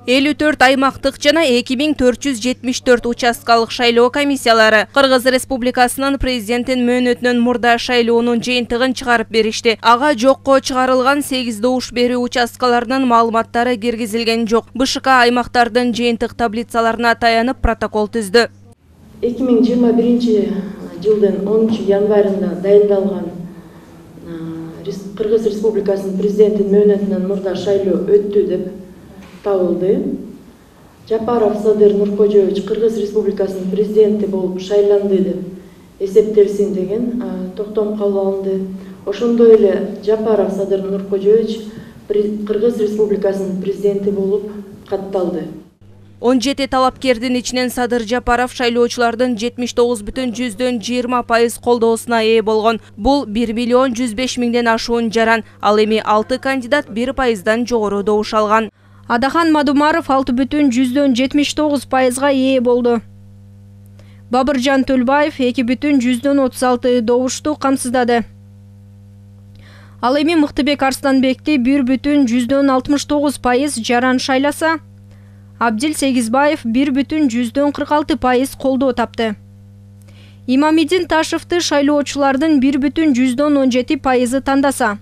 54 аймактык жана 2474 участкалык шайлоо комиссиялары Кыргыз Республикасынын президенттин мөөнөтүнөн мурда шайлоонун жыйынтыгын чыгарып беришти. Ага жокко чыгарылган 8 добуш берүү участкаларынын маалыматтары киргизилген жок. БШК аймактардын жыйынтык таблицаларына таянып протокол түздү. 2021 жылдын 10 январында дайындалган Кыргыз Республикасынын президенттин мөөнөтүнөн мурда шайлоо өттү деп табылды. Жапаров Садыр Нуркожоевич Кыргыз Республикасынын президенти болуп шайланды деп эсептелсин деген токтом кабыл алынды. Ошондой эле Жапаров Садыр Нуркожоевич Кыргыз Республикасынын президенти болуп катталды. 17 талапкердин ичинен Садыр Жапаров шайлоочулардын 79,20% колдоосуна ээ болгон. Бул 1.105.000 ашуун жаран. Ал эми 6 кандидат 1%дан жогору добуш алган. Адахан Мадумаров 6,79%га ээ болду. Бабыржан Төлбаев 2,36 добушту камсыздады. Ал эми Мыктыбек Арсланбекти 1,69% жаран шайласа, Абдил Сегизбаев 1,46% колдоо тапты. Имамидин Ташевти шайлоочулардын 1,17% тандаса,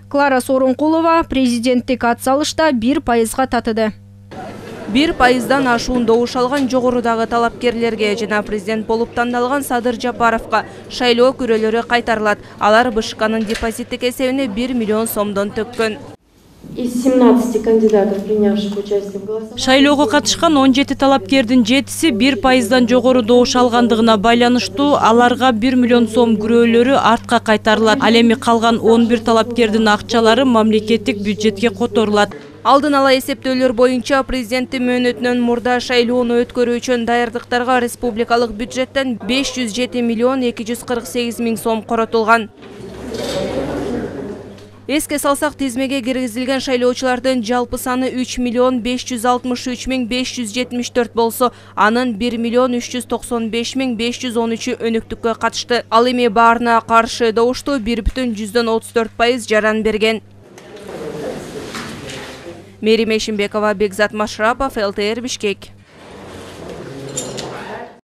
Клара Сооронкулова президенттик атсалышта 1%га татыды. 1%дан ашуун добуш алган жогорудагы талапкерлерге жана президент болуп тандалган Садыр Жапаровка шайлоо күрөлөрү кайтарылат. Алар БШКнын депозиттик эсебине 1 миллион сомдон төккөн. Из 17 кандидатов, принявших участие в голосовании, шайлоого катышкан 17 талапкердин 7-си 1%дан жогору добуш алгандыгына байланыштуу аларга 1 миллион сом күрөөлөрү артка кайтарылат. Ал эми калган 11 талапкердин акчалары мамлекеттик бюджетке которулат. Алдын ала эсептөөлөр боюнча президенттин мөөнөтүнөн мурда шайлоону өткөрүү үчүн даярдыктарга республикалык бюджеттен 507 миллион 248 миң сом коротулган. Эске салсак, тизмеге киргизилген шайлоочулардын жалпы саны 3 миллион 563 миң 574 болсо, анын 1 миллион 395 миң 513 өнүктүккө катышты. Ал эми баарына каршы добушту 1,34% жаран берген. Мерим Эшимбекова, Бекзат Машрапов, ЛТР Бишкек.